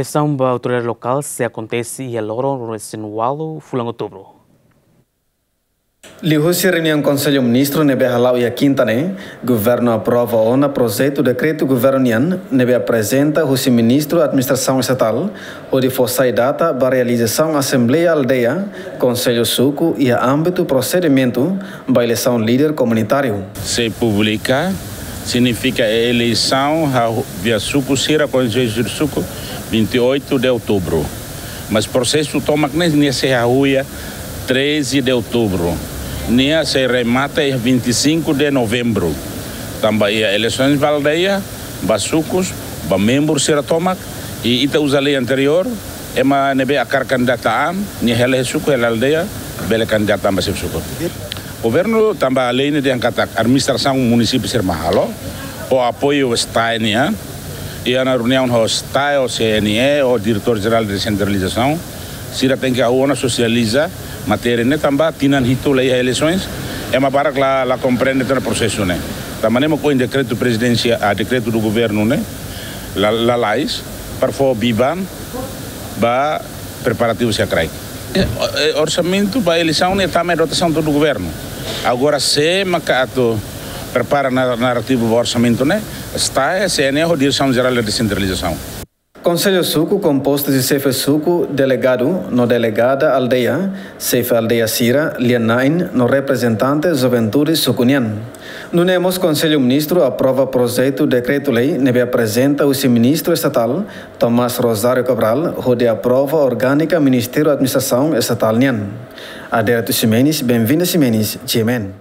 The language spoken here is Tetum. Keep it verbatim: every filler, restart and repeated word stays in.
Eleisaun ba autoridade lokál sei akontese iha loron ruanulu-resin-ualu fulan Outubru. Liuhusi reuniaun Konsellu Ministru ne'ebé hala'o iha kinta ne'e, Governu aprova ona projetu dekretu Governu nian ne'ebé aprezenta husi Ministru Administrasaun Estatál, hodi fó sai data ba realizasaun Asembleia Aldeia, Konsellu Suku iha ámbitu prosedimentu ba eleisaun líder komunitáriu. Sei publika, signifika eleisaun ba suku sira, konsellu suku, vinte e oito de outubro. Mas prosesu tomak ne'e nia sei hahú iha treze de outubro. Nia sei remata iha vinte e cinco de novembro. Tanba iha eleisaun ba aldeia, ba sukus, ba membru sira tomak, i ita uza lei anteriór, ema ne'ebé hakarak kandidata an, nia hela iha suku, hela aldeia, bele kandidata an ba xefe suku. Governu tanba lei ne'e dehan katak administrasaun munisípiu sira mak halo, ho apoiu STAE nian, i iha reuniaun ho STAE, ho C N E, ho Diretór Jerál Desentralizasaun, sira tenke hahú ona sosializa matéria ne'e tanba tinan hitu la iha eleisaun, ema barak la, la komprende tiha ona prosesu ne'e. Tanba ne'e mak ohin dekretu prezidensiál, ah, dekretu do governu ne'e, la, lalais, para fó biban ba preparativu sira kraik. Eh, eh, orsamentu ba eleisaun ne'e tama iha dotasaun do governu. Agora sé maka atu prepara na-, narrativu ba orsamentu ne'e, STAE, C N E ho Diresaun Jerál Desentralizasaun. Konsellu Suku kompostu husi xefe suku, delegadu no delegada aldeia, xefe aldeia sira, lia-na'in no reprezentante juventude suku nian. Nune'e mós Konsellu Ministru aprova projetu dekretu-lei ne'ebé aprezenta husi Ministru Estatál, Tomás Rosário Cabral, hodi aprova orgánika Ministériu Administrasaun Estatál nian. Adérito Ximenes, Benvinda Ximenes, G M N.